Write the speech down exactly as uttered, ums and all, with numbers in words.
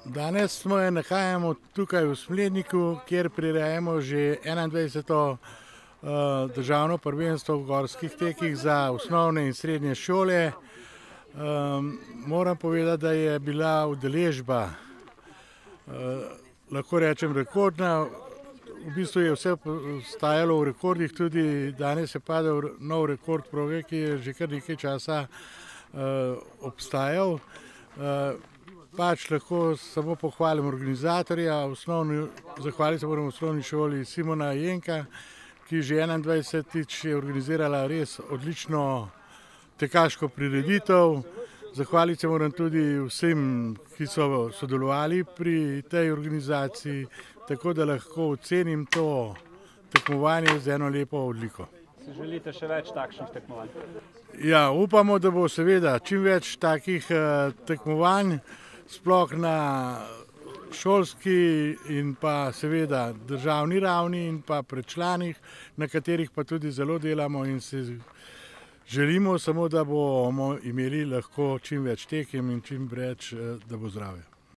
Danes smo je nahajamo tukaj v Smledniku, kjer prirejamo že enaindvajseto državno prvenstvo v gorskih tekih za osnovne in srednje šole. Moram povedati, da je bila udeležba, lahko rečem, rekordna. V bistvu je vse stajalo v rekordih, tudi danes je padel nov rekord proge, ki je že kar nekaj časa obstajal. Pač lahko samo pohvalim organizatorja, zahvaliti se moram osnovni šoli Simona Jenka, ki že enaindvajsetič je organizirala res odlično tekaško prireditev. Zahvaliti se moram tudi vsem, ki so sodelovali pri tej organizaciji, tako da lahko ocenim to tekmovanje z eno lepo odliko. Si želite še več takšnih tekmovanj? Ja, upamo, da bo seveda čim več takih tekmovanj, sploh na šolski in pa seveda državni ravni in pa pri članih, na katerih pa tudi zelo delamo in si želimo samo, da bomo imeli lahko čim več tekem in čim več, da bo zdravje.